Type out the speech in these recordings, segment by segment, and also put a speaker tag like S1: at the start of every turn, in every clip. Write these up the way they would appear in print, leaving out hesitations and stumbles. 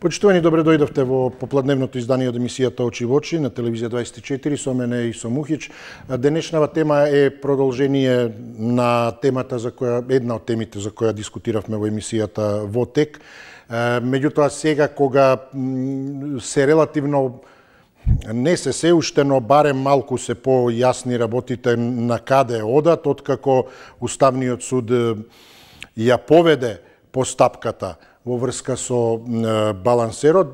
S1: Почитувани, добре дојдовте во попладневното издание од емисијата Очи во очи на телевизија 24 со мене и со Мухич. Денешнава тема е продолжение на темата за која една од темите за која дискутиравме во емисијата во тек. Меѓутоа сега кога се релативно не се уште, но барем малку се појасни работите на каде одат, откако Уставниот суд ја поведе постапката во врска со балансерот.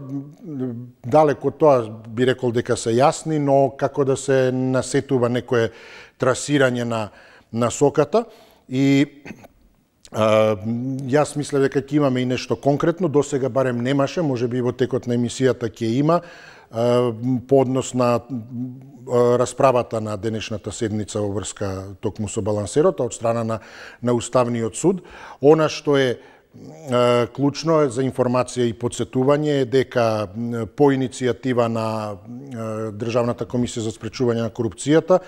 S1: Далеко тоа би рекол дека се јасни, но како да се насетува некое трасирање на насоката. И јас мислев дека ќе имаме и нешто конкретно, досега барем немаше, можеби во текот на емисијата ќе има, по однос на расправата на денешната седница во врска токму со балансерот од страна на Уставниот суд. Она што е клучно за информација и подсетување е дека по иницијатива на Државната комисија за спречување на корупцијата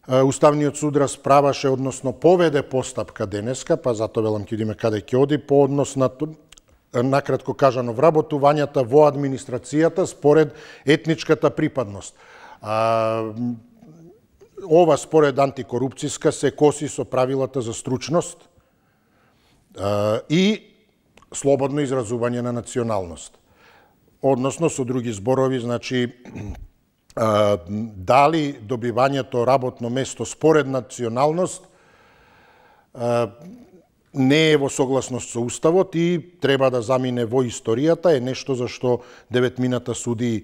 S1: Уставниот суд расправаше, односно поведе постапка денеска, па затоа велам ќе видиме каде ќе оди, по однос на накратко кажано вработувањата во администрацијата според етничката припадност. Ова според антикорупцијска се коси со правилата за стручност и слободно изразување на националност. Односно, со други зборови, значи, дали добивањето работно место според националност не е во согласност со Уставот и треба да замине во историјата, е нешто за што деветмината судии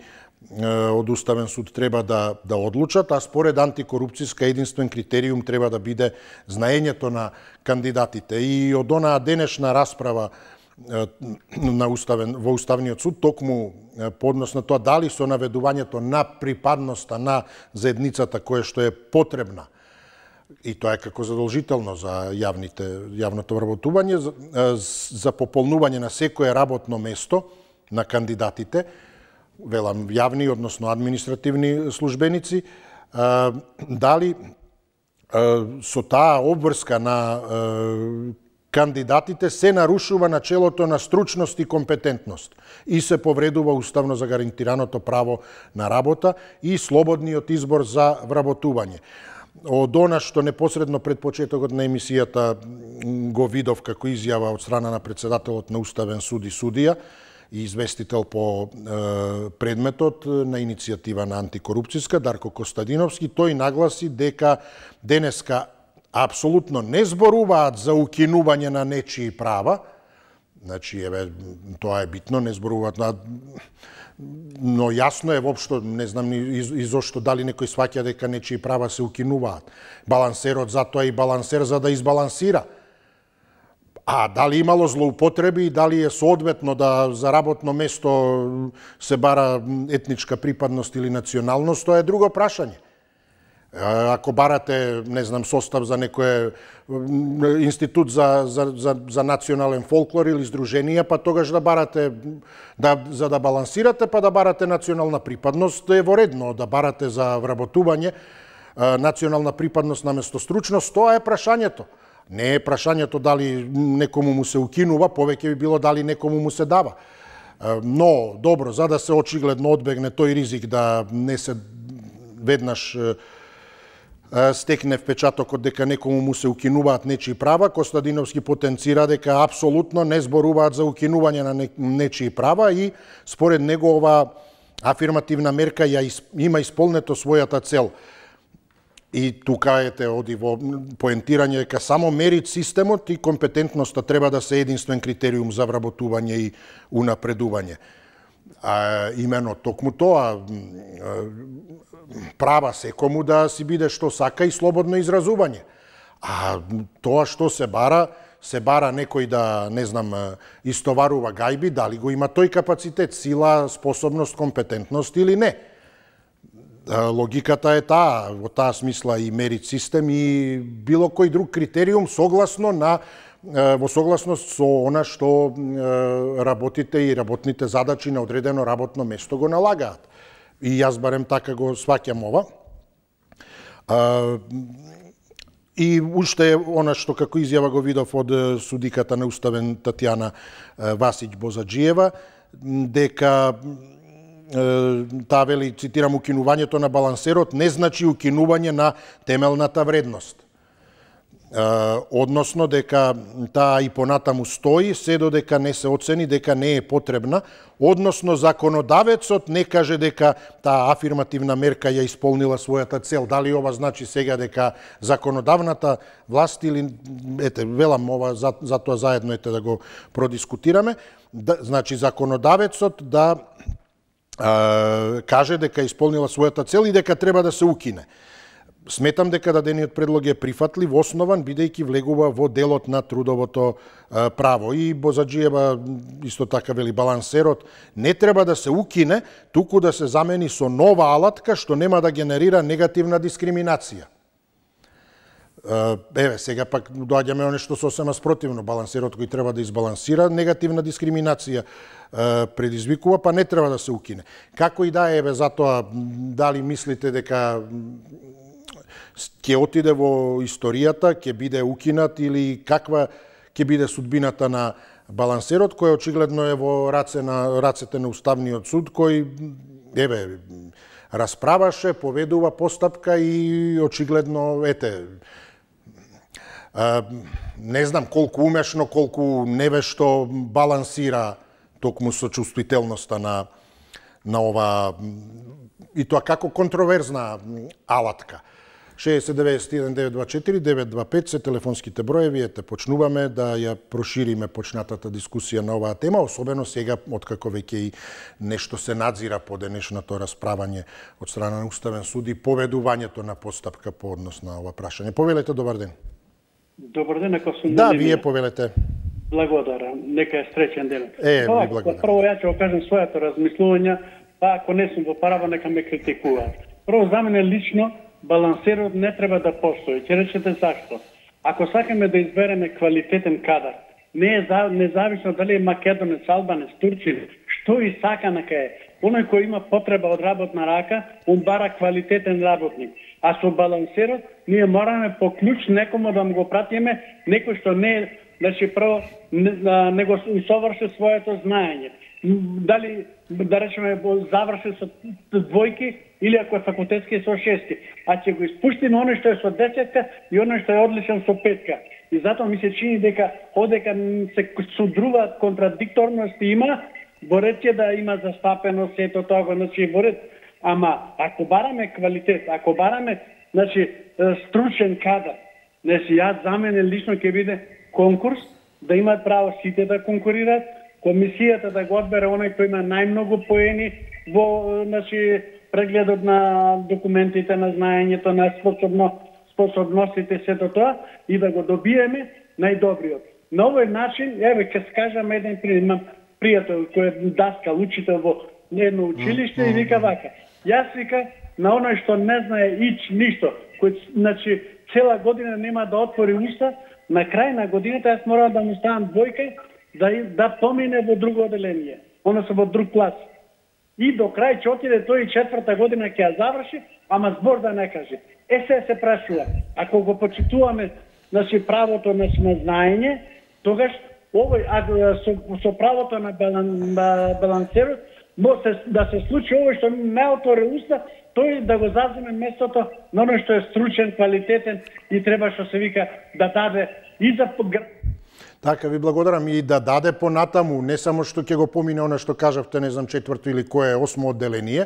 S1: од Уставен суд треба да одлучат, а според антикорупцијска единствен критериум треба да биде знаењето на кандидатите. И од онаа денешна расправа во Уставниот суд, токму по однос на тоа дали со наведувањето на припадноста на заедницата која што е потребна, и тоа е како задолжително за јавното вработување, за пополнување на секое работно место на кандидатите, велам јавни, односно административни службеници, дали со таа обврска на кандидатите се нарушува начелото на стручност и компетентност и се повредува уставно загарантираното право на работа и слободниот избор за вработување. Од она што непосредно пред почетокот на емисијата го видов како изјава од страна на председателот на Уставен суд и судија и известител по предметот на иницијатива на антикорупцијска Дарко Костадиновски, тој нагласи дека денеска апсолутно не зборуваат за укинување на нечии права, значи, тоа е битно, не зборуваат но јасно е воопшто, не знам и зошто дали некој сваќа дека нечии права се укинуваат. Балансерот затоа и балансер за да избалансира. А дали имало злоупотреби и дали е соодветно да за работно место се бара етничка припадност или националност, тоа е друго прашање. Ако барате, не знам, состав за некој институт за национален фолклор или здруженија, па тогаш да барате, за да балансирате, па да барате национална припадност, е во редно. Да барате за вработување национална припадност наместо стручност, тоа е прашањето. Не е прашањето дали некому му се укинува, повеќе би било дали некому му се дава. Но, добро, за да се очигледно одбегне тој ризик да не се веднаш стекне впечатокот дека некому му се укинуваат нечии права, Костадиновски потенцира дека апсолутно не зборуваат за укинување на нечии права и според него ова афирмативна мерка има исполнето својата цел. И тука оди во поентирање дека само мерит системот и компетентноста треба да се единствен критериум за вработување и унапредување. Имено токму тоа, права секому да си биде што сака и слободно изразување. А тоа што се бара некој да, не знам, истоварува гајби, дали го има тој капацитет, сила, способност, компетентност или не. Логиката е таа, во таа смисла и мерит систем и било кој друг критериум во согласност со она што работите и работните задачи на одредено работно место го налагаат. И јас барем така го сваќам ова. И уште она што како изјава го видов од судиката на Уставен Татјана Васиќ Бозаџиева, дека таа вели, цитирам, укинувањето на балансерот не значи укинување на темелната вредност. Односно дека таа и понатаму стои се додека не се оцени дека не е потребна, односно законодавецот не каже дека таа афирмативна мерка ја исполнила својата цел. Дали ова значи сега дека законодавната власт или велам ова затоа заедно да го продискутираме, значи законодавецот да каже дека исполнила својата цел и дека треба да се укине. Сметам дека дадениот предлог е прифатлив, основан, бидејќи влегува во делот на трудовото право. И Бозаджиева исто така вели, балансерот не треба да се укине, туку да се замени со нова алатка што нема да генерира негативна дискриминација. Еве, сега пак доаѓаме на нешто сосема спротивно. Балансерот кој треба да избалансира негативна дискриминација предизвикува, па не треба да се укине. Како и да е, еве, затоа дали мислите дека ќе отиде во историјата, ќе биде укинат или каква ќе биде судбината на балансерот, кој очигледно е во рацете на Уставниот суд, кој, еве, расправаше, поведува постапка и очигледно, не знам колку умешно, колку невешто балансира токму со чувствителноста на ова, и тоа како контроверзна алатка. 60-91-924-925 се телефонските броеви, почнуваме да ја прошириме почнатата дискусија на оваа тема, особено сега, откако веќе и нешто се надзира по денешното расправање од страна на Уставен суд и поведувањето на постапка по однос на ова прашање. Повелете, добар ден.
S2: Добар ден, ако сум...
S1: Да, вие повелете.
S2: Благодарам, нека е среќен ден.
S1: Ви благодарам.
S2: Прво ја ќе кажам својата размислувања, па ако не сум во право, нека ме критикуваат. Прво, за мене лично, балансерот не треба да постои. Ќе речете зашто. Ако сакаме да избереме квалитетен кадар, не е независно дали е македонец, албанец, турчин, што и сака нека е. Оној кој има потреба од работна рака, он бара квалитетен работник. А со балансерот, ние мораме по клjuč некому да го пратиме, некој што не е, значи прво не го усоврши своето знаење. Дали, да речеме, заврши со двојки или ако е факултетски со шестки. А ќе го испуштиме оној што е со десетка и оној што е одличен со петка. И затоа ми се чини дека одека се судруваат контрадикторности има, во ред ќе да има застапено сето тоа, значи во ред. Ама ако бараме квалитет, ако бараме, значи, стручен кадар, значи јас за мене лично ќе биде конкурс, да имаат право сите да конкурираат, комисијата да го одбере оној кој има најмногу поени во, значи, прегледот на документите, на знаењето, на способностите, сето тоа, и да го добиеме најдобриот. На овој начин, еве, ќе скажам еден пример, имам пријател кој е даскал, учител во едно училиште и вика вака. Јас вика на оној што не знае ништо, кој, значи, цела година нема да отвори уста, на крај на годината јас морам да му ставам двојка да помине во друго оделение, односно во друг клас. И до крај ќе отиде тој и четврта година ќе ја заврши, ама збор да не каже. Се прашува, ако го почитуваме, значи, правото на знаење, тогаш овој со правото на балансерот да се случи овој што не отвори уста, тој да го заземе местото на оној што е стручен, квалитетен и треба, што се вика, да даде и за...
S1: Така, ви благодарам, и да даде понатаму, не само што ќе го помине она што кажавте, не знам, четврто или кое е осмо одделение,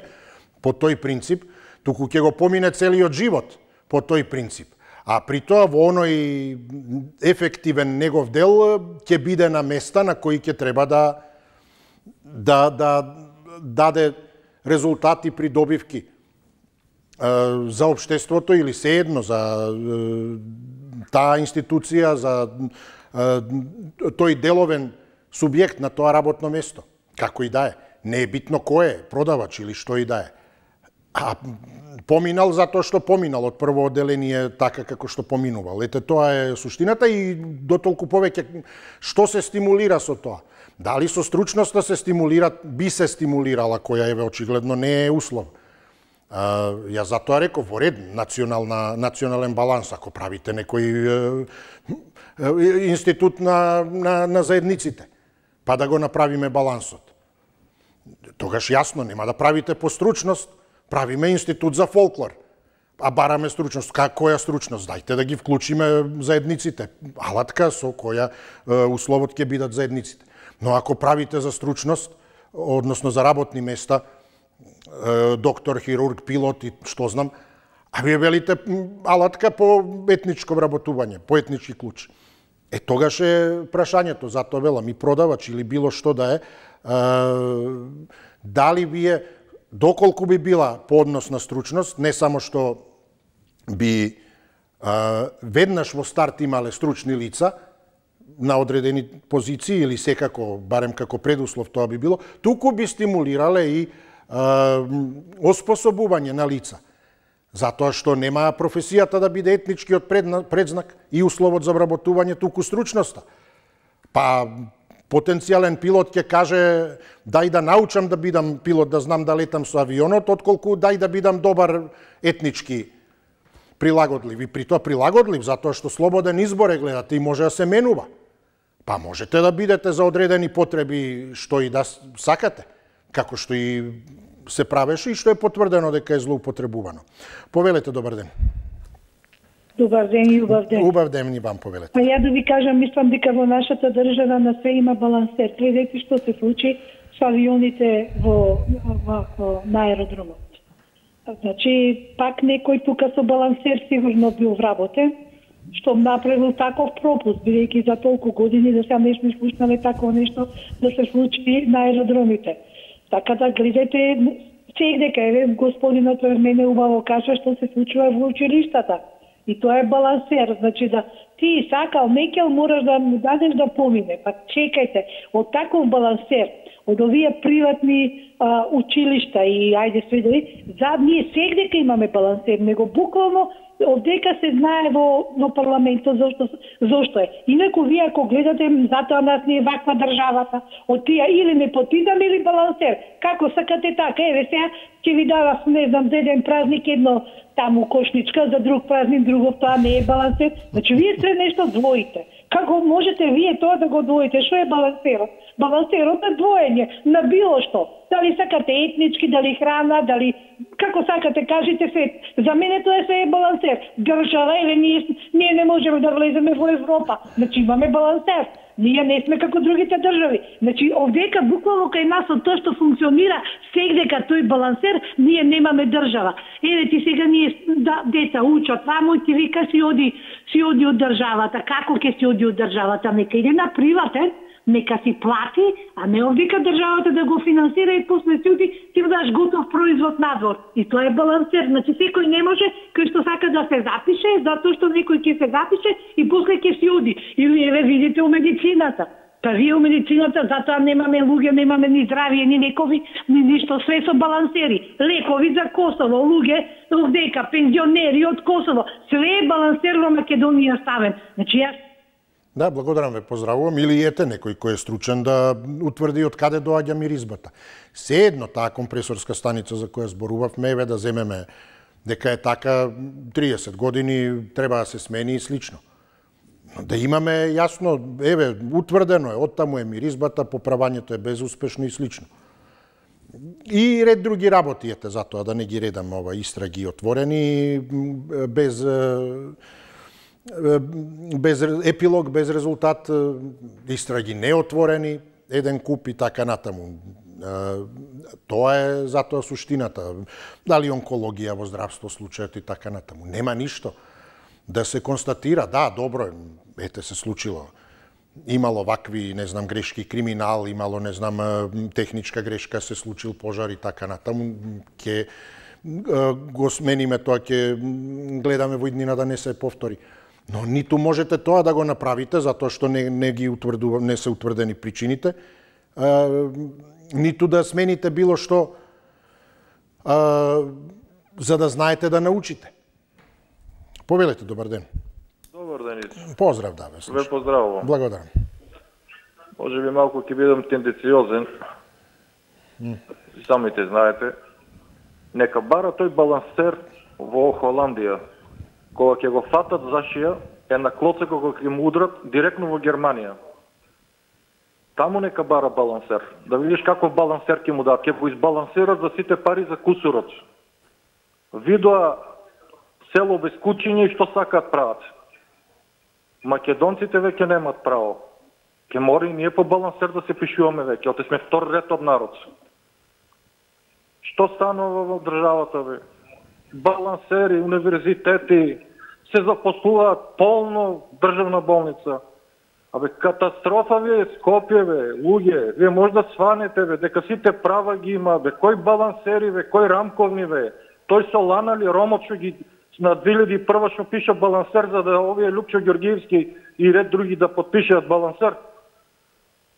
S1: по тој принцип, туку ќе го помине целиот живот по тој принцип. А при тоа во оној ефективен негов дел ќе биде на места на кои ќе треба да даде резултати при добивки за општеството или sejedno за таа институција, за тој деловен субјект на тоа работно место. Како и да е. Не е битно кој е, продавач или што и да е. А поминал затоа што поминал од прво одделение така како што поминувал. Ете, тоа е суштината и дотолку повеќе што се стимулира со тоа. Дали со стручноста се стимулира, би се стимулирала, која еве очигледно не е услов. Ја затоа реков, во ред, национален баланс, ако правите некој институт на заедниците, па да го направиме балансот. тогаш јасно нема да правите по стручност, правиме институт за фолклор. А бараме стручност. Која стручност? Дајте да ги вклучиме заедниците. Алатка со која условот ќе бидат заедниците. Но ако правите за стручност, односно за работни места, доктор, хирург, пилот и што знам, а вие велите алатка по етничко вработување, по етнички клуч. Тогаш е прашањето, затоа велам и продавач или било што да е, дали вие, доколку би била по однос на стручност, не само што би веднаш во старт имале стручни лица на одредени позиции или секако, барем како предуслов тоа би било, туку би стимулирале и оспособување на лица. Затоа што нема професијата да биде етничкиот предзнак и условот за вработување, туку стручноста. Па потенцијален пилот ќе каже дај да научам да бидам пилот, да знам да летам со авионот, отколку дај да бидам добар етнички прилагодлив. И при тоа прилагодлив, затоа што слободен избор е, гледате, и може да се менува. Па можете да бидете за одредени потреби што и да сакате, како што и се правеше и што е потврдено дека е злоупотребувано. Повелете, добар ден.
S3: Добар ден и убав ден.
S1: Убав ден и вам повелете.
S3: Па ја да ви кажам, мислам дека во нашата држава на све има балансер. Гледайте што се случи со авионите на аеродромот. Значи, пак некој тука со балансер сигурно бил вработен, што направил таков пропуст, бидејќи за толку години да се не сме слушнале такво нешто да се случи на аеродромите. Така да гледате, сегдека, еве, господинот пред мене убаво кажа што се случува во училиштата. И тоа е балансер, значи да ти сакал некел можеш да му дадеш да помине. Па чекајте, од таков балансер, од овие приватни училишта и ајде сведови, ние сегдека имаме балансер, него буквално овдека се знае во парламентот зошто е. Инаку вие ако гледате, затоа нас не е ваква државата, од тие или непотизам или балансер. Како сакате така? Еве сега ќе ви дава, не знам, за еден празник едно таму кошничка, за друг празник друго, тоа не е балансер. Значи вие се нешто двоите. Како можете вие тоа да го двоите? Што е балансерот? Балансерот е двоење на било што. Дали сакате етнички, дали храна, дали како сакате, кажете се. За мене тоа се е балансер. Држава или ние не можеме да влеземе во Европа. Значи имаме балансер. Ние не сме како другите држави. Значи овдека буквално кај нас од тоа што функционира сегдека тој балансер, ние немаме држава. Еве ти сега ние деца учат таму и ти вика си оди од државата. Како ќе си оди од државата? Нека иде на приватен, нека си плати, а не овдека државата да го финансира и после ти даш готов производ надвор. И тоа е балансер. Значи секој не може кој што сака да се запише, затоа што некој ќе се запише и после ќе си оди. Или еве видите у медицината. Па вие у медицината затоа немаме луѓе, немаме ни здравие, ни лекови, ни ништо, све со балансери. Лекови за Косово, луѓе овдека, пензионери од Косово, све е балансер во Македонија ставен. Значи јас
S1: Да, благодарам ве, поздравувам. Или ете некој кој е стручен да утврди од каде доаѓа миризбата. Се едно таа компресорска станица за која зборувавме, еве да земеме дека е така 30 години треба да се смени и слично. Да имаме јасно, еве, утврдено е, оттаму е миризбата, поправањето е безуспешно и слично. И ред други работи, ете, затоа да не ги редам истраги отворени, без епилог, без резултат, истраги неотворени, еден куп и така натаму. Тоа е затоа суштината. Дали онкологија во здравство случајот и така натаму. Нема ништо. Да се констатира, да, добро, ете се случило. Имало вакви, не знам, грешки, криминал, имало, не знам, техничка грешка, се случил пожар и така натаму. Ке го смениме тоа, ке гледаме во иднина да не се повтори. Но ниту можете тоа да го направите, затоа што не се утврдени причините, ниту да смените било што, за да знаете да научите. Повелете, добар ден.
S4: Добар ден.
S1: Поздрав, да, ве слушам.
S4: Ве поздравувам.
S1: Благодарам.
S4: Може би малку ќе бидам тенденциозен. Самите знаете. Нека бара тој балансер во Холандија. Кога ќе го фатат за шија, е на клоце кога ќе му удрат директно во Германија. таму нека бара балансер. Да видиш каков балансер ќе му дадат, ќе го избалансират за сите пари за кусурот. Видоа село без кучиња и што сакаат прават. Македонците веќе немаат право. Ке мора и ние по балансер да се пишуваме веќе, оте сме втор ретов народ. Што станува во државата, бе? Балансери, универзитети, се запослуваат полно државна болница. Абе, катастрофа ви е Скопје, бе, луѓе. Вие може да сванете, бе, дека сите права ги има, бе, кој балансери, бе, кој рамковни, бе. Тој Солана ли Ромот што ги на 2001 што пиша балансер за да овие Лупчо Ѓоргиевски и ред други да подпишат балансер.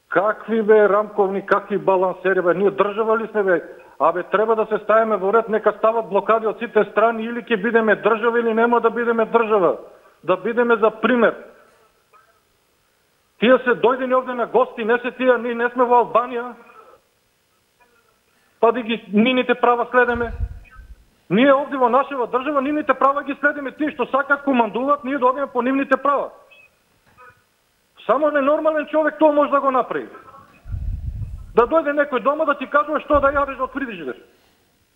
S4: Какви бе рамковни, какви балансери, бе, ние држава ли сме, бе? Абе, треба да се ставиме во ред, нека стават блокади од сите страни, или ќе бидеме држава или нема да бидеме држава. Да бидеме за пример. Тие се дојдени овде на гости, не се тие, ние не сме во Албанија, па да ги нините права следеме. Ние овде во нашава држава нивните права ги следиме, тие што сакат командуваат, ние да одиме по нивните права. Само ненормален човек тоа може да го направи. Да дојде некој дома да ти кажува што да јадеш од фрижидер.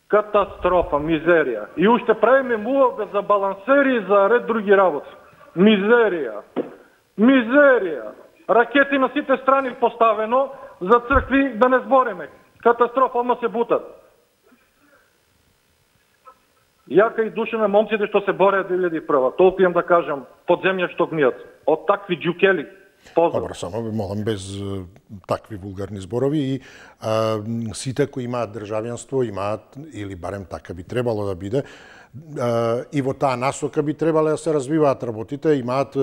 S4: Катастрофа, мизерија. И уште правиме муавбет за балансери и за ред други работи. Мизерија. Мизерија. Ракети на сите страни поставено, за цркви да не збориме. Катастрофа, одма се бутат. Јака и душа на момците што се бореат 2001. Толку имам да кажам, подземја што гнијат. Од такви џукели.
S1: Добро, само молам без такви вулгарни зборови и сите кои имаат државјанство имаат, или барем така би требало да биде, и во таа насока би требале да се развиваат работите, имаат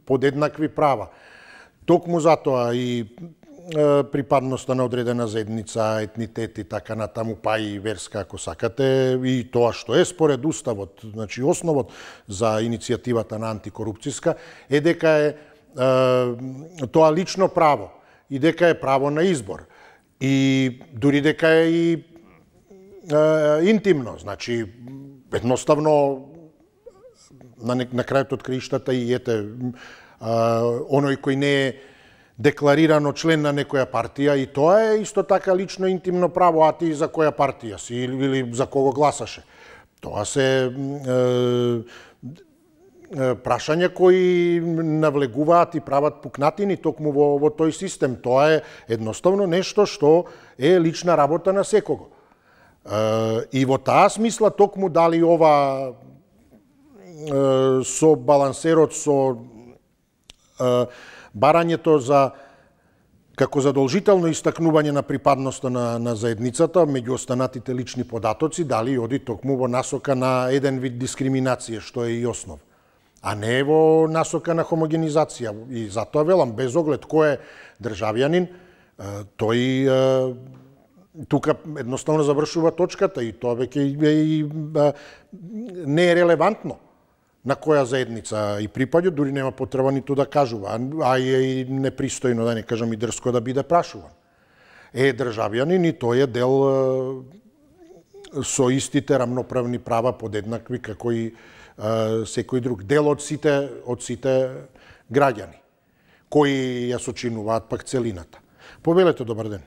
S1: подеднакви права. Токму затоа и припадноста на одредена заедница, етнитет и така натаму, па и верска, ако сакате, и тоа што е според уставот, значи основот за иницијативата на антикорупцијска, е дека е тоа лично право и дека е право на избор. И дури дека е и интимно, значи едноставно на крајот од краиштата и ете оној кој не е декларирано член на некоја партија, и тоа е исто така лично интимно право, а ти за која партија си или за кого гласаше. Тоа се прашања кои навлегуваат и прават пукнатини токму во тој систем. Тоа е едноставно нешто што е лична работа на секого. И во таа смисла токму дали ова со балансерот, со барањето за како задолжително истакнување на припадноста на заедницата меѓу останатите лични податоци, дали оди токму во насока на еден вид дискриминација, што е и основ, а не во насока на хомогенизација. И затоа велам, без оглед кој е државјанин, тој тука едноставно завршува точката и тоа веќе не е релевантно на која заедница и припаѓа, дури нема потреба ниту да кажува, а е и непристојно, да не кажам и дрско, да биде прашуван. Е државјанин и тој е дел со истите рамноправни права подеднакви како и секој друг. Дел од сите граѓани, кои ја сочинуваат пак целината. Повелете, добар ден.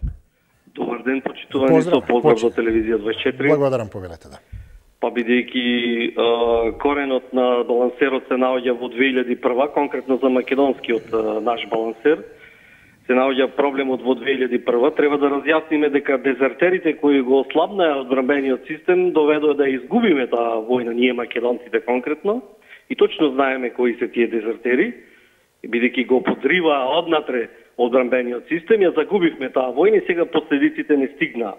S5: Добар ден, почитувани, со поздрав за телевизија 24.
S1: Благодарам, повелете, да.
S5: Па бидејќи коренот на балансерот се наоѓа во 2001, конкретно за македонскиот наш балансер, се наоѓа проблемот во 2001, треба да разјасниме дека дезертерите кои го ослабнаа одбранбениот систем доведоа да изгубиме таа војна, ние македонците конкретно, и точно знаеме кои се тие дезертери, бидејќи го подриваа однатре одбранбениот систем, ја загубивме таа војна и сега последиците не стигнаа.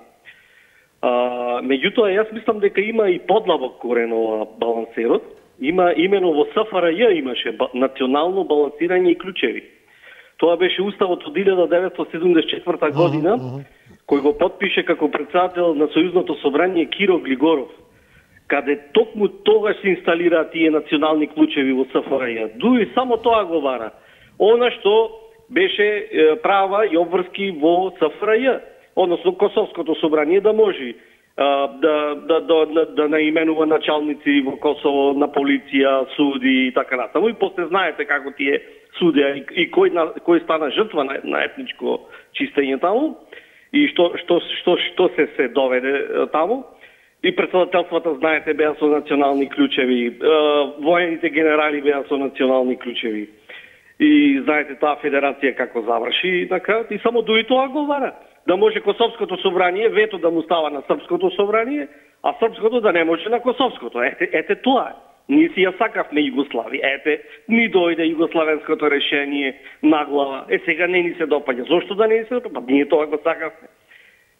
S5: Меѓутоа, јас мислам дека има и подлабок корен ова балансерот. Има имено во СФРЈ имаше национално балансирање и клучеви. Тоа беше уставот од 1974 година, кој го подпише како председател на Сојузното собрание Киро Глигоров, каде токму тогаш се инсталираат тие национални клучеви во СФРЈ. Дури само тоа го бара. Она што беше права и обврски во СФРЈ, односно Косовското собрание да може да наименува началници во Косово на полиција, суди и така натаму. И после знаете како тие судија и кој стана жртва на етничко чистење таму и што се доведе таму. И председателствата, знаете, беа со национални клучеви, воените генерали беа со национални клучеви. И знаете таа федерација како заврши на крајот и само дури тоа го вара. Да може Косовското собрание вето да му става на Српското собрание, а Српското да не може на Косовското. Ете тоа. Ние си ја сакавме Југославија. Ете, ни дојде југославенското решение на глава. Сега не ни се допаѓа. Зошто да не ни се допаѓа? Ние тоа го сакавме.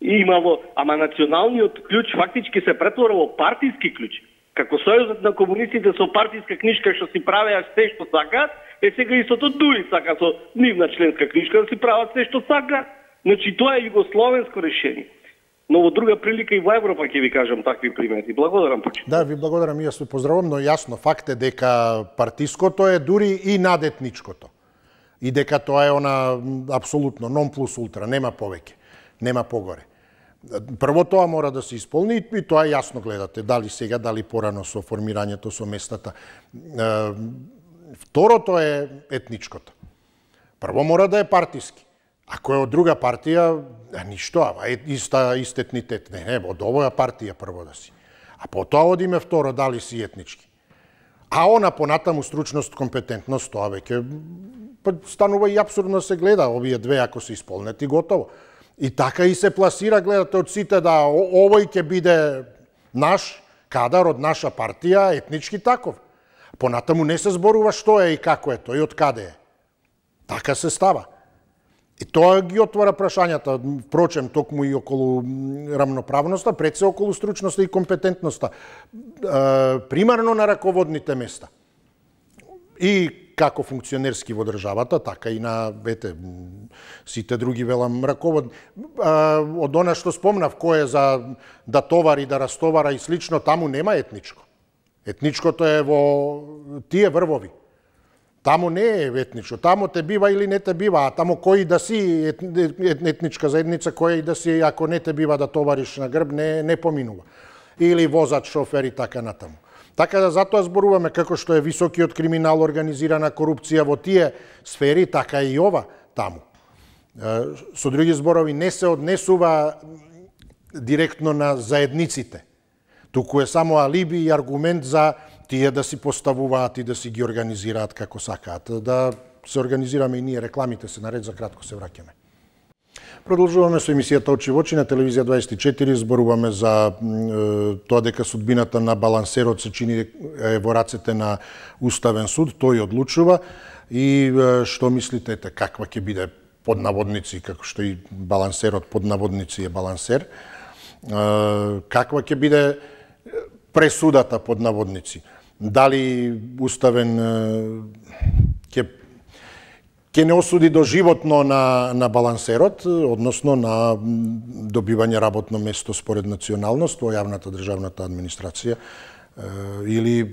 S5: Имало, ама националниот клjuč фактички се претвора во партиски клjuč. Како Сојузот на комунистите со партиска книжка што си правеа се што сакаат, сега истото дури сака со нивна членска книжка да си прават се што сакаат. Значи тоа е југословенско решение. Но во друга прилика и во Европа ќе ви кажам такви примери. Благодарам почитувам.
S1: Да, ви благодарам, јас ве поздравувам, но јасно факт е дека партиското е дури и надетничкото. И дека тоа е она апсолутно нон плюс ултра, нема повеќе, нема погоре. Прво тоа мора да се исполни и тоа јасно гледате, дали сега, дали порано со формирањето со местата. Второто е етничкото. Прво мора да е партиски. Ако е од друга партија, ништо, ама ист етнитет. Не, од овоја партија прво да си. А потоа одиме второ, дали си етнички. А она понатаму стручност, компетентност, тоа веќе станува и апсурдно се гледа, овие две ако се исполнет и готово. И така и се пласира, гледате од сите да овој ќе биде наш кадар од наша партија, етнички таков. Понатаму не се зборува што е и како е тој, од каде е. Така се става. И тоа ги отвора прашањата, впрочем, токму и околу рамноправноста, пред се околу стручноста и компетентноста. Примарно на раководните места. И како функционерски во државата, така и на, сите други, велам, раководни. Од она што спомнав, кој е за да товари, да растовара и слично, таму нема етничко. Етничкото е во тие врвови. Таму не е етничко, таму те бива или не те бива, а таму кој да си етничка заедница, кој да си, ако не те бива да товариш на грб, не поминува. Или возач, шофер и така натаму. Така да затоа зборуваме како што е високиот криминал, организирана корупција во тие сфери, така и ова таму. Со други зборови, не се однесува директно на заедниците, туку е само алиби и аргумент за тие да си поставуваат и да си ги организираат како сакаат. Да се организираме и ние, рекламите се наред, за кратко се враќаме. Продолжуваме со емисијата Очи во очи на телевизија 24, зборуваме за тоа дека судбината на балансерот се чини во рацете на Уставен суд, тој одлучува и што мислите, каква ќе биде под наводници, како што и балансерот под наводници е балансер, каква ќе биде пресудата под наводници? Дали Уставен ќе не осуди доживотно на балансерот, односно на добивање работно место според националност во јавната државната администрација, или,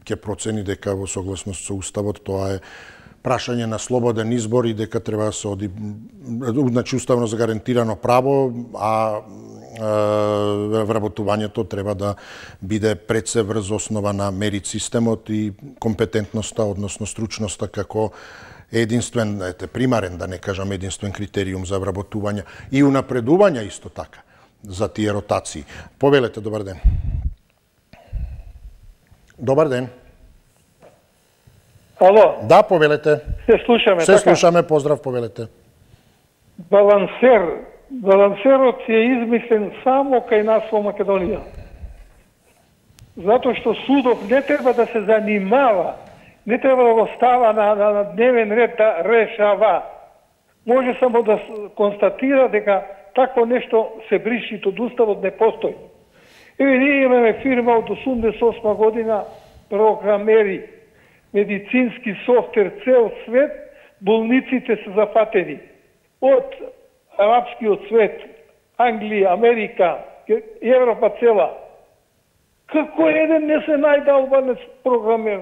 S1: ќе процени дека во согласност со Уставот тоа е прашање на слободен избор и дека треба да се оди, значи уставно загарантирано право, а вработувањето треба да биде пред се врз основа на мерит системот и компетентноста, односно стручноста како единствен, примарен, да не кажам единствен критериум за вработување и унапредување исто така за тие ротации. Повелете, добар ден. Добар ден.
S6: Ало.
S1: Да, повелете.
S6: Се слушаме,
S1: Се слушаме, поздрав, повелете.
S6: Балансерот е измислен само кај нас во Македонија. Затоа што судот не треба да се занимава, не треба да го става на дневен ред да решава. Може само да констатира дека такво нешто се бриши од Уставот, не постои. Ние имаме фирма од 88 година, програмери, медицински софтвер, цел свет, болниците се зафатени. Од арапскиот свет, Англија, Америка, Европа цела. Како еден не се најде албанец програмер?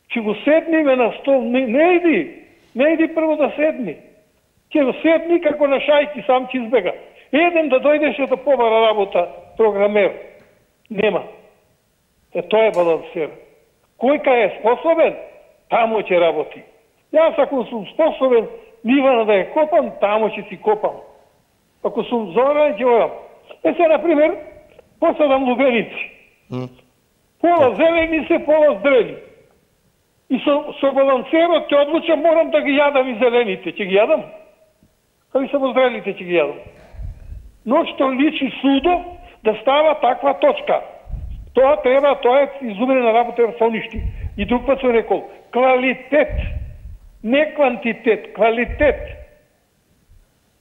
S6: Ќе го седниме на стол, не иди прво да седни. Ќе го седни како на шајки, сам ќе избега. Еден да дојдеше да побара работа, програмер. Нема. Тоа е балансер. Кој кај е способен, тамо ќе работи. Јас ако сум способен, нивана да ја копам, тамо ќе си копам. Ако сум зоран, ќе одам. Се, например, посадам лубеници. Пола зелени се, пола здрени. И со балансерот ќе одлучам, морам да ги јадам и зелените. Ќе ги јадам? Кај само зрените ќе ги јадам. Но што личи судо да става таква точка. Тоа е изумрена работа со ништи. И друг пат сум рекол, квалитет, не квантитет, квалитет.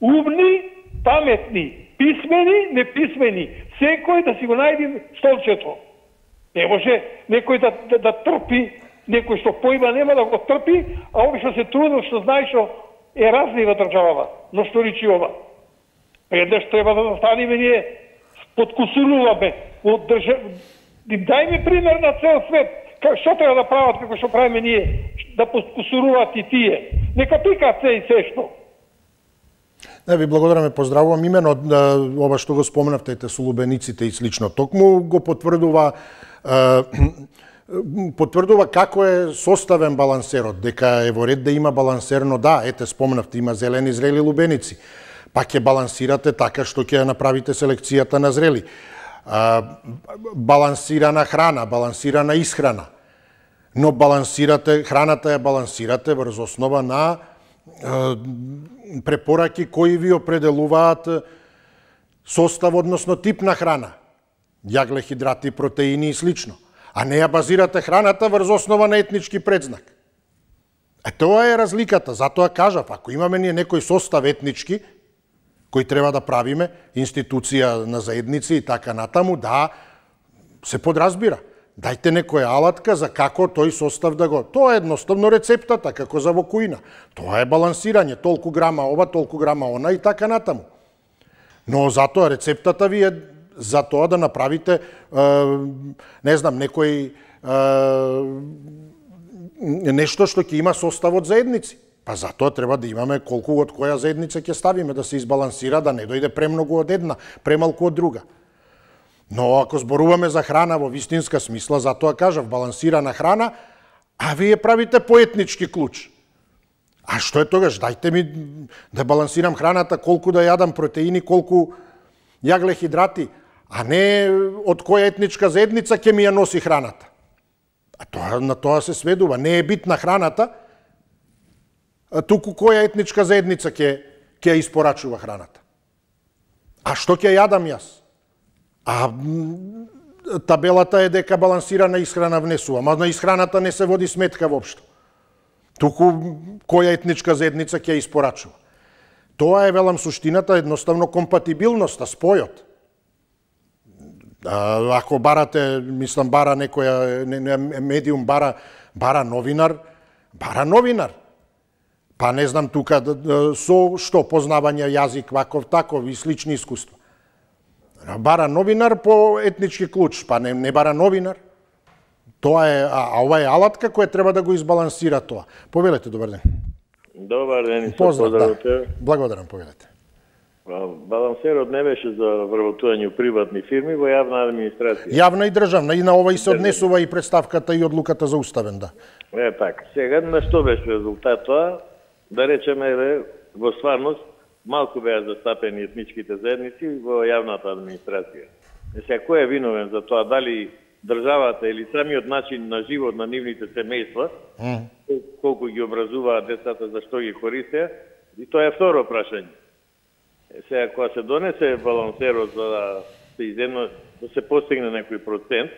S6: Умни, паметни, писмени, неписмени. Секој да си го најди столчето. Не може некој да трпи, некој што поима нема да го трпи, а овој што се трудил, што знае што е разлива државава, но што речи ова. Еднаш треба да застанеме ние, подкусуруваме, дај ми пример на цел свет, што треба да прават како што правиме ние, да подкусуруваат и тие. Нека пикаат се и се што.
S1: Не, ви благодараме, поздравувам. Имено ова што го споменавте со лубениците и слично, токму го потврдува како е составен балансерот, дека е во ред да има балансер, но да, ете споменавте, има зелени зрели лубеници. Па ќе балансирате така што ќе направите селекцијата на зрели. Балансирана храна, балансирана исхрана. Но храната ја балансирате врз основа на препораки кои ви определуваат состав, односно тип на храна. Јагле, хидрати, протеини и слично. А не ја базирате храната врз основа на етнички предзнак. Тоа е разликата. Затоа кажав, ако имаме ние некој состав етнички, кој треба да правиме, институција на заедници и така натаму, да, се подразбира. Дајте некоја алатка за како тој состав да го... Тоа е едноставно рецептата, како за во кујна. Тоа е балансирање, толку грама ова, толку грама она и така натаму. Но затоа рецептата ви е за тоа да направите, не знам, некој нешто што ќе има состав од заедници. Па затоа треба да имаме колку од која заедница ќе ставиме, да се избалансира, да не дојде премногу од една, премалку од друга. Но ако зборуваме за храна во вистинска смисла, затоа кажав, балансирана храна, а вие правите по етнички клуч. А што е тогаш? Дајте ми да балансирам храната, колку да јадам протеини, колку јагле, хидрати, а не од која етничка заедница ќе ми ја носи храната. А на тоа се сведува. Не е битна храната, туку која етничка заедница ќе ја испорачува храната. А што ќе јадам јас? А табелата е дека балансирана исхрана внесува, ама на исхраната не се води сметка воопшто. Туку која етничка заедница ќе ја испорачува. Тоа е, велам, суштината, едноставно компатибилноста, спојот. Ако барате, мислам, бара некоја медиум, бара новинар, Па не знам тука со што познавање јазик, ваков, таков и слични искуства. Бара новинар по етнички клуч, па не бара новинар. Тоа е, а ова е алатка која треба да го избалансира тоа. Повелете, добар ден.
S7: Добар ден и
S1: поздрав,
S7: поздравите.
S1: Благодарам, повелете.
S7: Балансерот не беше за вработување у приватни фирми, во јавна администрација.
S1: Јавна и државна, и на ова и се однесува и представката и одлуката за уставен, да.
S7: Така. Сега на што беше резултат тоа? Да речеме, во стварност, малку беа застапени етничките заедници во јавната администрација. Сега, кој е виновен за тоа? Дали државата или самиот начин на живот на нивните семејства, колку ги образуваат децата, за што ги користеа, и тоа е второ прашање. Сега, кога се донесе балансерот за да се постигне некој процент,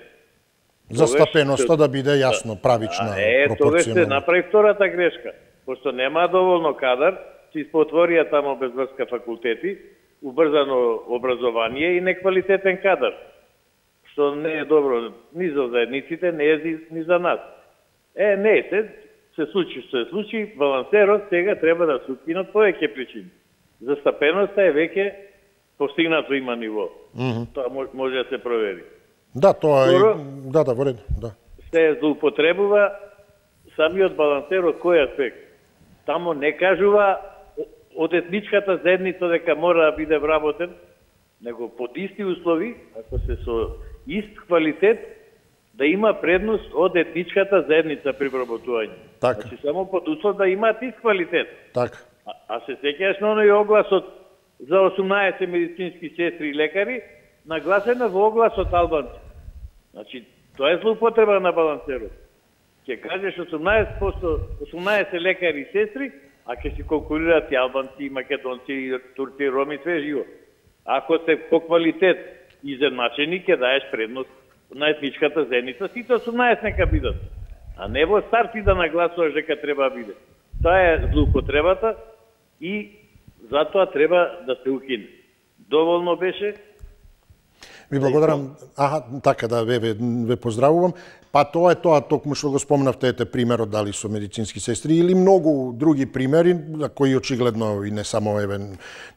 S1: застапеноста да биде јасно, правична, пропорционална.
S7: Тогаш се направи втората грешка. Пошто нема доволно кадар, се испотворија тамо без врска факултети, убрзано образование и неквалитетен кадар. Што не е добро ни за заедниците, не е ни за нас. Не, се случи што се случи, балансерот сега треба да се укинат повеќе причини. Застапеноста е веќе постигнато има ниво. Тоа може да се провери.
S1: Да, тоа е... Да, во ред, да.
S7: Се злоупотребува самиот балансер од кој аспект. Тамо не кажува од етничката заедница дека мора да биде вработен, него под исти услови, ако се со ист квалитет, да има предност од етничката заедница при вработување.
S1: Така.
S7: Значи само под услов да имаат ист квалитет.
S1: Така.
S7: А се сеќаш на оној огласот за 18 медицински сестри и лекари, нагласена во огласот албанци. Значи, тоа е злоупотреба на балансерот. Ќе кажеш 18 лекари и сестри, а ќе си конкурираат и албанци, и македонци, и турци, и роми, све живо. Ако се по квалитет изедначени, ќе даеш предност на етничката заедница, сите 18 нека бидат. А не во старти да нагласуваш дека треба да биде. Тоа е злоупотребата и затоа треба да се укине. Доволно беше.
S1: Ви благодарам. Така да, ве поздравувам. Па тоа е тоа, токму што го спомнавте, ете примерот дали со медицински сестри или многу други примери, за кои очигледно и не само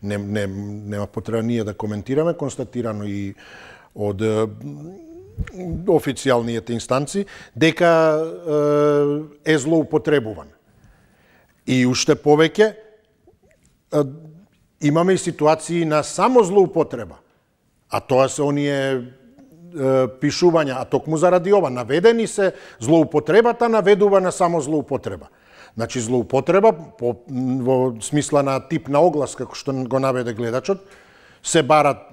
S1: нема потреба ние да коментираме, констатирано и од официјалните инстанци, дека е злоупотребуван. И уште повеќе, имаме и ситуации на само злоупотреба. А тоа се оние пишувања, а токму заради ова, наведени се, злоупотребата наведува на само злоупотреба. Значи, злоупотреба, во смисла на тип на оглас, како што го наведе гледачот, се барат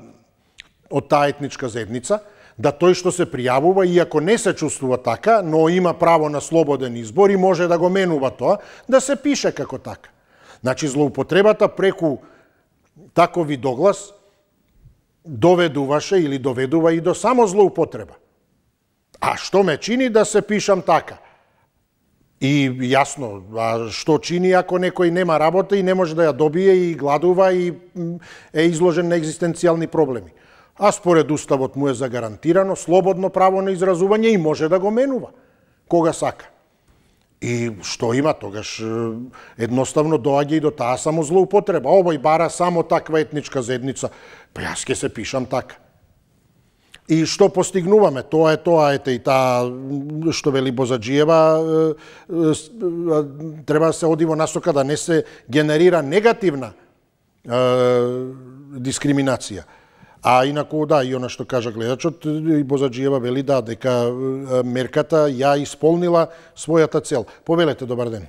S1: од таа етничка заедница, да тој што се пријавува, иако не се чувствува така, но има право на слободен избор и може да го менува тоа, да се пише како така. Значи, злоупотребата преку таков вид оглас доведуваше или доведува и до само злоупотреба. А што ме чини да се пишам така? И јасно, што чини ако некој нема работа и не може да ја добие и гладува и е изложен на екзистенцијални проблеми. А според Уставот му е загарантирано слободно право на изразување и може да го менува кога сака. И што има тогаш? Едноставно доаѓа и до таа само злоупотреба. Овој бара само таква етничка заедница. Па јас ќе се пишам така. И што постигнуваме? Тоа е тоа, ете и таа што вели Бозаджиева, треба да се оди во насока да не се генерира негативна дискриминација. А инаку, да, и она што кажа гледачот, и Бозаджиева вели да, дека мерката ја исполнила својата цел. Повелете, добар ден.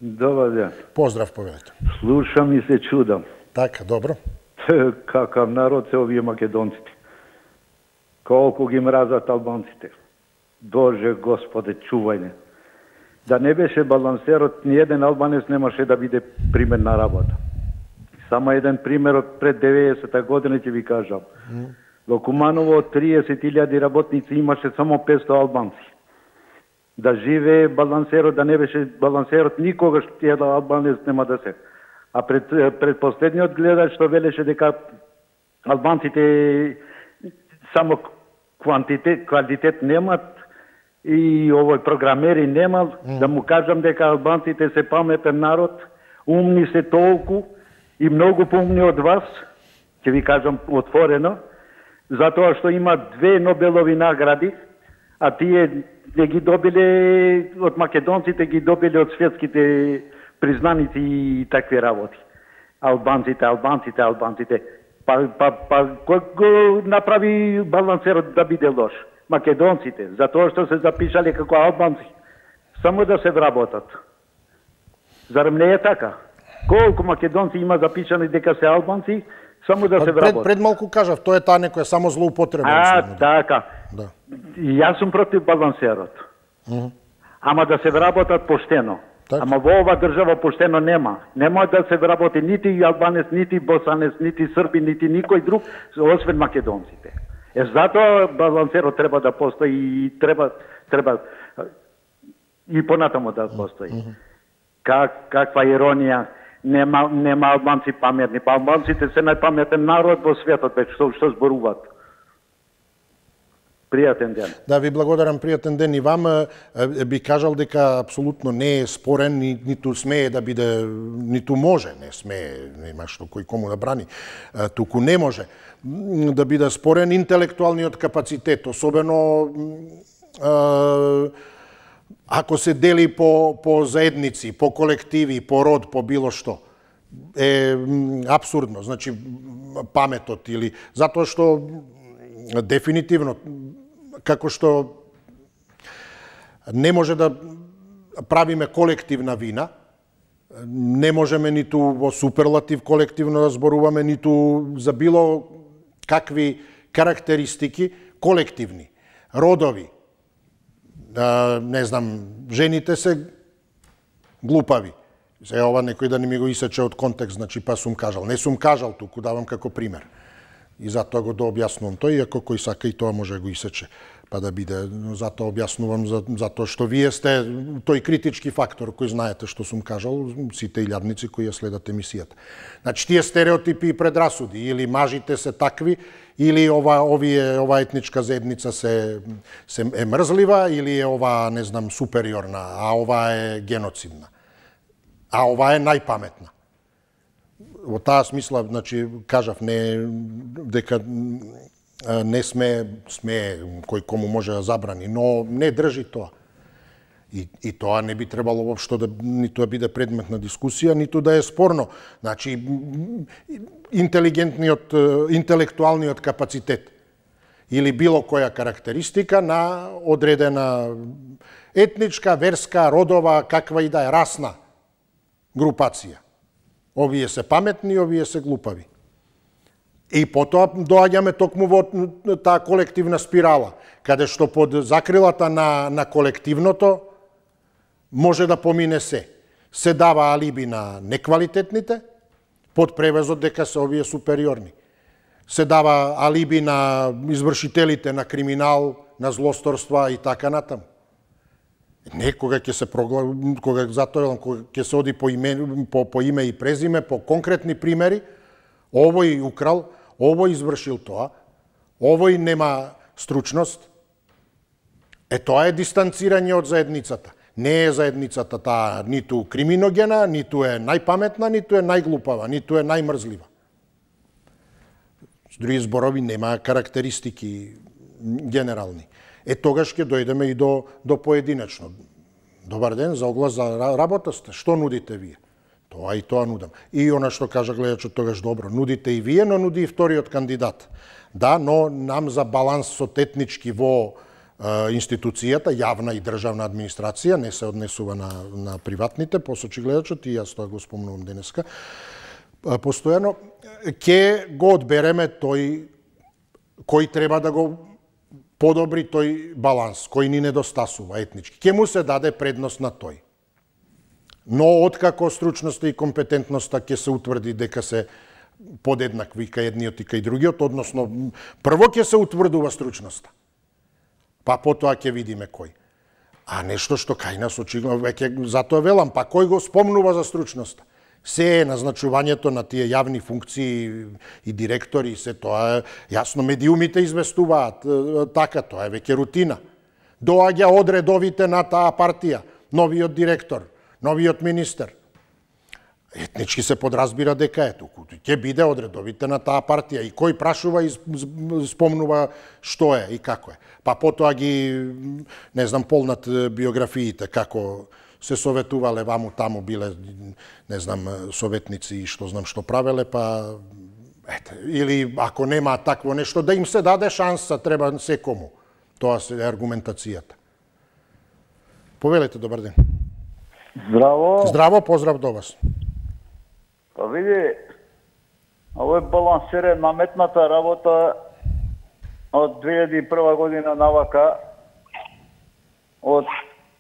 S8: Добар ден.
S1: Поздрав, повелете.
S8: Слушам и се чудам.
S1: Така, добро.
S8: Какав народ се овие македонците. Колку ги мразат албанците. Боже Господе, чувај не. Да не беше балансерот, ни еден албанец немаше да биде пример на работа. Само еден пример од пред 90-та година ќе ви кажам. Во Куманово од 30.000 работници имаше само 500 албанци. Да живее балансерот, да не беше балансерот, никогаш тие албанец нема да се. А пред последниот гледач што велеше дека албанците само квантитет немат и овој програмери немал, да му кажам дека албанците се паметен народ, умни се толку и многу поумни од вас, ќе ви кажам отворено, затоа што има 2 Нобелови награди, а тие не ги добиле од македонците, ги добиле од светските признаници и такви работи. Албанците. Па кој го направи балансерот да биде лош? Македонците, затоа што се запишале како албанци, само да се вработат. Зарем не е така? Колку македонци има запишани дека се албанци, само да се вработат.
S1: Пред малку кажав, тоа е таа некоја само злоупотреба.
S8: Така. Да. Јас сум против балансерот. Ама да се вработат поштено. Так. Ама во ова држава поштено нема. Нема да се вработи нити албанец, нити босанец, нити срби, нити никој друг, освен македонците. Затоа балансерот треба да постои и треба и понатаму да постои. Каква иронија, нема албанци паметни, па албанците се најпаметен народ во светот, што зборуваат. Пријатен ден.
S1: Да, ви благодарам, пријатен ден и вам. Би кажал дека апсолутно не е спорен, ниту смее да биде, ниту може, не смее, нема што кој кому да брани, туку не може да биде спорен интелектуалниот капацитет, особено ако се дели по заедници, по колективи, по род, по било што. е апсурдно. Значи, паметот или... Затоа што дефинитивно, како што не може да правиме колективна вина, не можеме ниту во суперлатив колективно да зборуваме, ниту за било какви карактеристики колективни, родови. Не знам, жените се глупави. Се ова некој да не ми го исече од контекст, значи па сум кажал. Не сум кажал, туку давам како пример. И затоа го дообјаснувам тој, иако кој сака и тоа може да го исече, па да биде. Затоа објаснувам, затоа што вие сте тој критички фактор кој знаете што сум кажал, сите илјадници кои ја следат емисијата. Значи, тие стереотипи и предрасуди, или мажите се такви, или ова етничка заедница е мрзлива, или е ова, не знам, супериорна, а ова е геноцидна. А ова е најпаметна. Во таа смисла, значи, кажав, дека не сме кој кому може да забрани, но не држи тоа. И тоа не би требало воопшто да ниту да биде предмет на дискусија, ниту да е спорно. Значи, интелектуалниот капацитет или било која карактеристика на одредена етничка, верска, родова, каква и да е, расна групација. Овие се паметни, овие се глупави. И потоа доаѓаме токму во таа колективна спирала, каде што под закрилата на колективното може да помине се. Се дава алиби на неквалитетните, под превезот дека се овие супериорни. Се дава алиби на извршителите на криминал, на злосторства и така натаму. Не, кога ќе се кога ќе се оди по име и презиме, по конкретни примери, овој украл, овој извршил тоа, овој нема стручност. Тоа е дистанцирање од заедницата. Не е заедницата таа ниту криминогена, ниту е најпаметна, ниту е најглупава, ниту е најмрзлива. С други зборови, нема карактеристики генерални. Тогаш ќе дојдеме и до поединечно. Добар ден, за оглас за работа сте. Што нудите вие? Тоа и тоа нудам. И она што кажа гледачот тогаш добро. Нудите и вие, но нуди и вториот кандидат. Да, но нам за балансот етнички во институцијата, јавна и државна администрација, не се однесува на приватните, посочи гледачот, и јас тоа го спомнувам денеска, постојано, ќе го одбереме тој кој треба да го подобри тој баланс, кој ни недостасува етнички. Ќе му се даде предност на тој. Но откако стручноста и компетентноста ќе се утврди дека се подеднакви кај едниот и кај другиот, односно прво ќе се утврдува стручноста, па потоа ќе видиме кој. А нешто што кај нас очигледно, веќе затоа велам, па кој го спомнува за стручноста? Се е назначувањето на тие јавни функции и директори, се тоа е јасно, медиумите известуваат, така, тоа е веќе рутина. Доаѓа од редовите на таа партија, новиот директор, новиот министер. Етнички се подразбира дека е туку. Ќе биде од редовите на таа партија и кој прашува и спомнува што е и како е. Па потоа ги, не знам, полнат биографиите, како се советувале ваму таму, биле, не знам, советници и што знам што правеле, па или ако нема такво нешто, да им се даде шанса, треба секому. Тоа се аргументацијата. Повелете, добар ден.
S9: Здраво.
S1: Здраво, поздрав до вас.
S9: Па види, овој балансер е наметната работа од 2001 година навака, од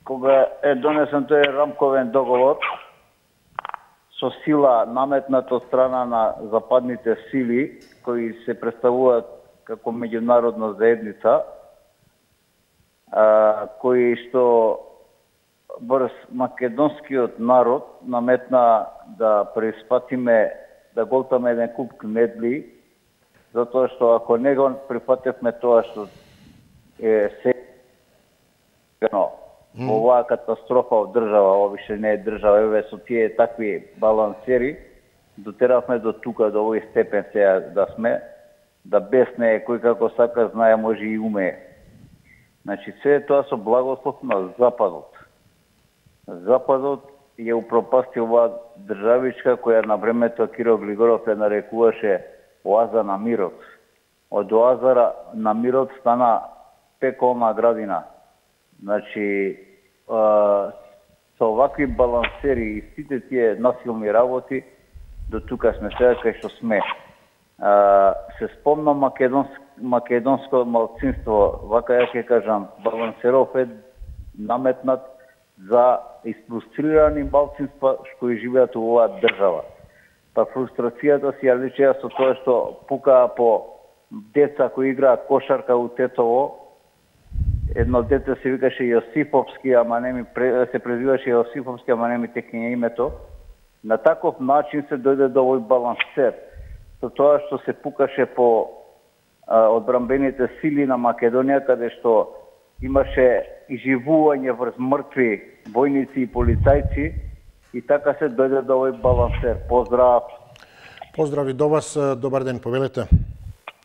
S9: кога е донесен тој рамковен договор, со сила наметнат од страна на западните сили, кои се представуваат како меѓународна заедница, кои што врз македонскиот народ наметна да преиспатиме, да голтаме еден куп кмедли, затоа што ако не го прифатевме тоа што е во оваа катастрофа од држава, овише не е држава, еве со тие такви балансери, дотеравме до тука, до овој степен сега да сме, да без неј кој како сака знае, може и умее. Значи, се тоа со благослов на Западот. Западот ја упропасти оваа државичка која на времето Киро Глигоров ја нарекуваше оаза на мирот. Од оазара на мирот стана пеколна градина. Значи, со овакви балансери и сите тие насилни работи, до тука сме сега кај што сме. Се спомна македонско малцинство, вака ја ќе кажам, балансеров е наметнат за испрустрирани малцинства што живеат во оваа држава. Па фрустрацијата си ја личеа со тоа што пукаа по деца кои играат кошарка у Тетово. Едно дете се викаше Јосифовски, ама не ми се презиваше Јосифовски, ама не ми текне името. На таков начин се дојде до овој балансер. Со тоа што се пукаше по одбранбените сили на Македонија, каде што имаше изживување врз мртви војници и полицајци, и така се дојде до овој балансер. Поздрав!
S1: Поздрави до вас, добар ден, повелете.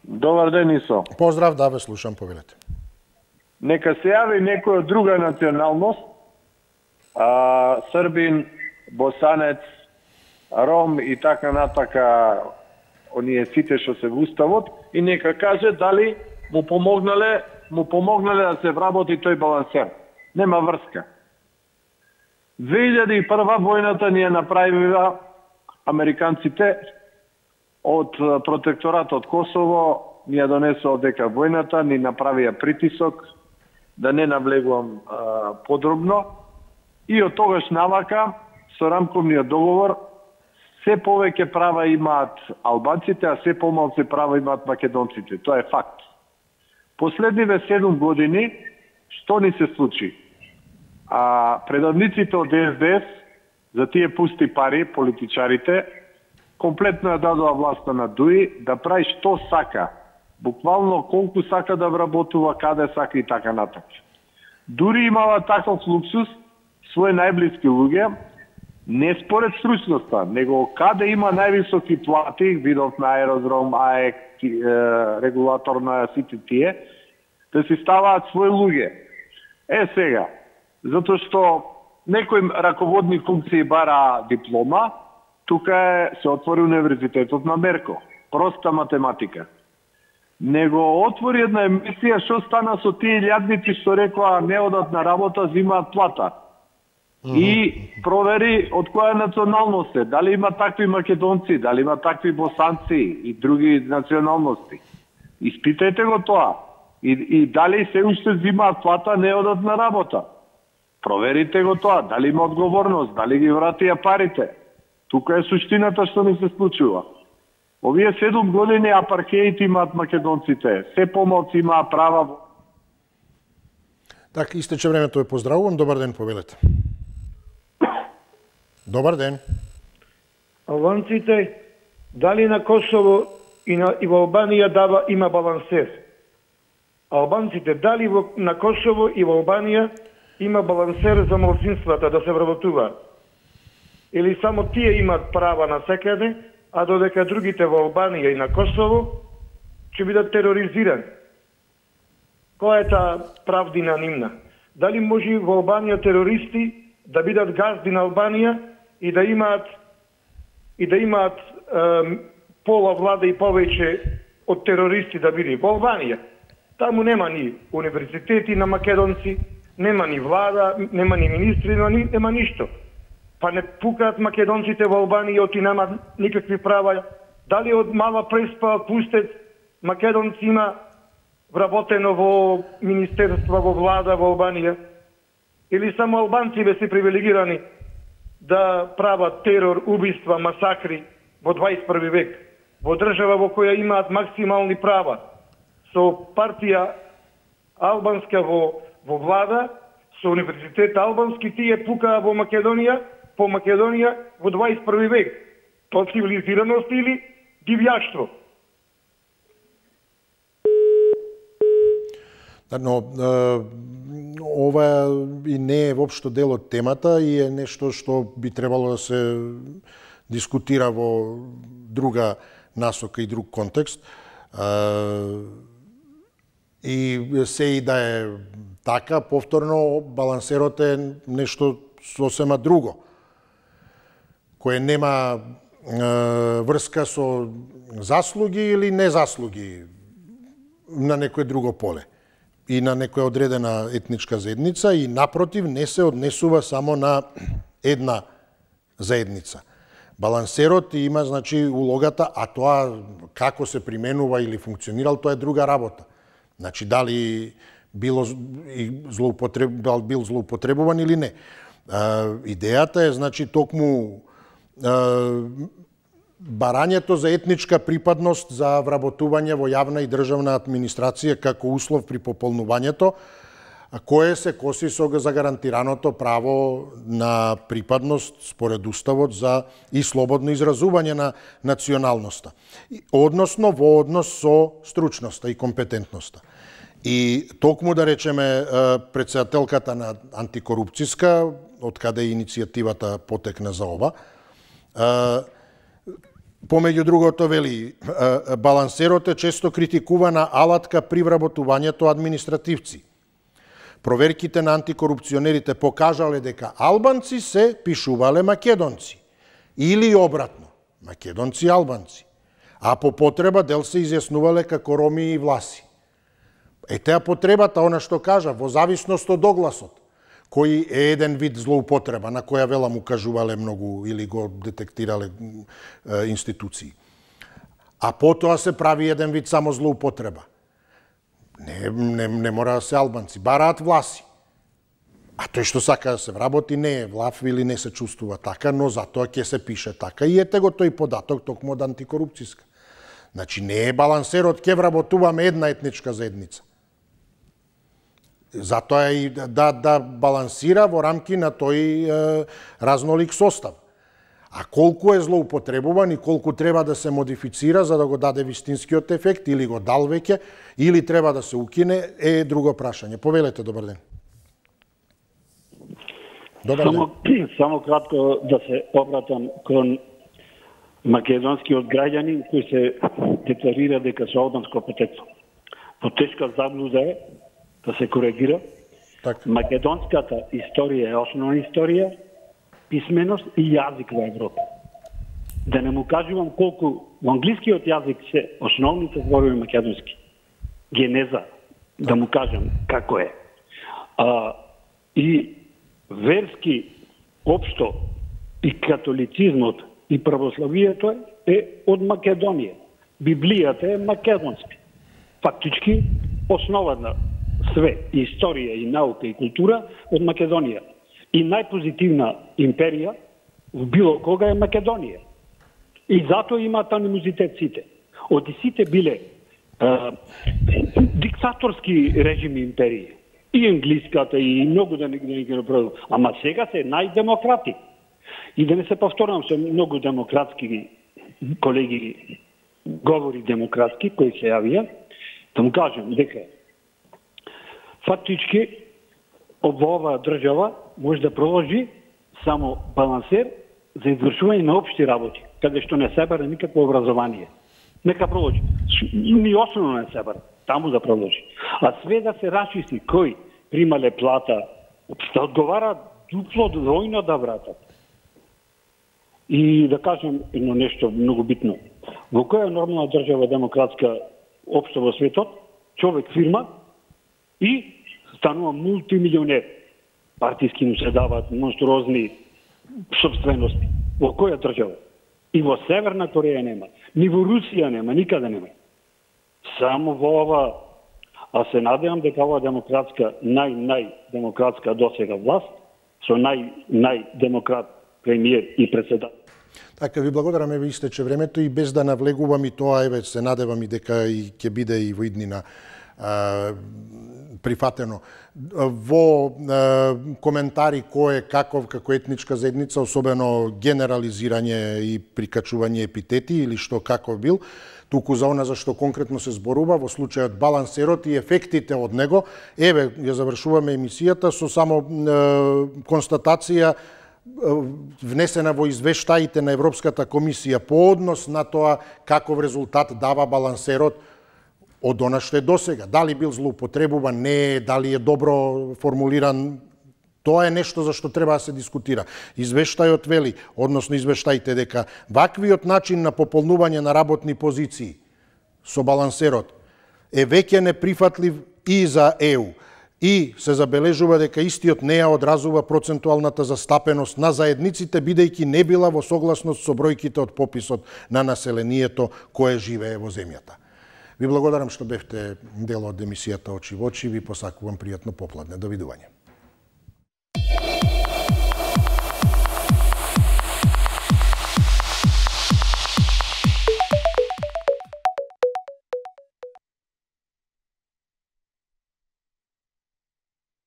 S10: Добар ден, Исо.
S1: Поздрав, да ве слушам, повелете.
S10: Нека се јави некој од друга националност, србин, босанец, ром и така натака, оние сите што се во уставот, и нека каже дали му помогнале да се вработи тој балансер. Нема врска. 2001 војната ни ја направила американците од протекторатот Косово, ни ја донесоа дека војната, ни направија притисок, да не навлегувам подробно, и од тогаш навака, со рамковниот договор, се повеќе права имаат албанците, а се помалку права имаат македонците. Тоа е факт. Последниве 7 години, што ни се случи? Предавниците од СДС, за тие пусти пари, политичарите, комплетно ја дадоа власта на Дуи да прави што сака. Буквално колку сака да вработува, каде сака и така натаму. Дури имала таков луксус, своји најблиски луѓе, не според стручноста, него каде има највисоки плати, видов на аеродром, АЕК, регулатор на сите тие, да си ставаат своји луѓе. Сега, затоа што некој раководни функции бара диплома, тука се отвори универзитетот на Мерко. Проста математика. Него отвори една емисија што стана со тие илјадници што рекоа не одат на работа, зимаат плата. И провери од која националност е, дали има такви македонци, дали има такви босанци и други националности. Испитајте го тоа. И дали се уште зимаат плата, не одат на работа. Проверите го тоа, дали има одговорност, дали ги вратија парите. Тука е суштината што ни се случува. Овие 7 години апархеид имаат македонците, се помалку имаат права.
S1: Так, истече времето, ве поздравувам. Добар ден, повелете. Добар ден.
S6: Албанците, дали на Косово и во Албанија има балансер? Албанците, дали на Косово и во Албанија има балансер за малцинствата да се вработуваат? Или само тие имаат права на секаде, а додека другите во Албанија и на Косово ќе бидат тероризирани? Која е таа правдина нивна? Дали може во Албанија терористи да бидат газди на Албанија и да имаат пола влада и повеќе од терористи да биде во Албанија? Таму нема ни универзитети на македонци, нема ни влада, нема ни министри, нема ништо. Па не пукаат македонците во Албанија, оти немаат никакви права. Дали од мала преспа пустет македонци има вработено во министерства, во влада во Албанија? Или само албанци бе се привилегирани да прават терор, убиства, масакри во 21 век, во држава во која имаат максимални права, со партија албанска во влада, со универзитет албански, тие пукаа во Македонија, по Македонија во 21 век. Тоа цивилизираност или дивјаштво?
S1: Но ова и не е воопшто дел од темата и е нешто што би требало да се дискутира во друга насока и друг контекст. И се и да е така, повторно, балансерот е нешто сосема друго. кое нема врска со заслуги или незаслуги на некое друго поле и на некоја одредена етничка заедница и напротив не се однесува само на една заедница. Балансерот има значи улогата, а тоа како се применува или функционирал, тоа е друга работа. Значи дали бил злоупотребуван или не. Идејата е значи токму барањето за етничка припадност за вработување во јавна и државна администрација како услов при пополнувањето, кое се коси со загарантираното право на припадност според Уставот за и слободно изразување на националноста, односно во однос со стручноста и компетентноста. И токму да речеме претседателката на антикорупцијска, од каде иницијативата потекна за ова, помеѓу другото вели, балансерот е често критикувана алатка при вработувањето административци. Проверките на антикорупционерите покажале дека албанци се пишувале македонци или обратно, македонци албанци, а по потреба дел се изјаснувале како роми и власи. Етеа потребата, она што кажа, во зависност од огласот, кој е еден вид злоупотреба, на која велам укажувале многу или го детектирале институции. А потоа се прави еден вид само злоупотреба. Не мора да се албанци, бараат власи. А тој што сака да се вработи не е влав или не се чувствува така, но затоа ќе се пише така и ете го тој податок токму од антикорупцијска. Значи не е балансерот ќе вработуваме една етничка заедница. Затоа и да балансира во рамки на тој разнолик состав. А колку е злоупотребуван и колку треба да се модифицира за да го даде вистинскиот ефект, или го дал веќе, или треба да се укине, е друго прашање. Повелете, добар ден. Добар ден.
S11: Само кратко да се обратам кон македонскиот граѓанин кој се декларира дека се албанско потекло. Потешка заблуда е да се коригира.
S1: Так.
S11: Македонската историја е основна историја, писменост и јазик во Европа. Да не му кажувам колку во англискиот јазик се основните зборови македонски. Генеза, да му кажам како е. И верски општо и католицизмот и православието е од Македонија. Библијата е македонски. Фактички основа на све, историја и наука и култура од Македонија. И најпозитивна империја в било кога е Македонија. И затоа имаат анимозитет сите. Оди сите биле диктаторски режими империи. И англиската, и многу да не ги направил. Ама сега се најдемократи. И да не се повторам со многу демократски колеги, говори демократски, кои се јавија, да му кажем дека фактички во оваа држава може да проложи само балансер за извршување на општи работи, каде што не се бара никакво образование. Нека проложи. Ни основно не се бара, таму да проложи. А све да се расчисти кој примале плата, да одговара дупло двојно да вратат. И да кажем едно нешто многу битно. Во која нормална држава демократска општо во светот, човек фирма и станува мултимилионер. Партиски му се даваат монструозни собствености. Во која држава? И во Северна Кореја нема, ни во Русија нема, никаде нема. Само во ова, а се надевам дека ова демократска, најдемократска досега власт, со најдемократ премиер и председател.
S1: Така, ви благодарам, ви истече времето и без да навлегувам и тоа, еве, се надевам и дека и ќе биде и во иднина прифатено. Во коментари кој е каков, како етничка заедница, особено генерализирање и прикачување епитети или што каков бил, туку за она за што конкретно се зборува, во случајот балансерот и ефектите од него, еве, ја завршуваме емисијата со само констатација внесена во извештаите на Европската комисија по однос на тоа каков резултат дава балансерот од она што е досега. Дали бил злоупотребуван, не, дали е добро формулиран, Тоа е нешто за што треба да се дискутира. Извештајот вели, односно извештајте дека ваквиот начин на пополнување на работни позиции со балансерот е веќе неприфатлив и за ЕУ. И се забележува дека истиот не ја одразува процентуалната застапеност на заедниците, бидејќи не била во согласност со бројките од пописот на населението кое живее во земјата. Ви благодарам што бевте дел од емисијата Очи во очи, ви посакувам пријатно попладне. Довидување.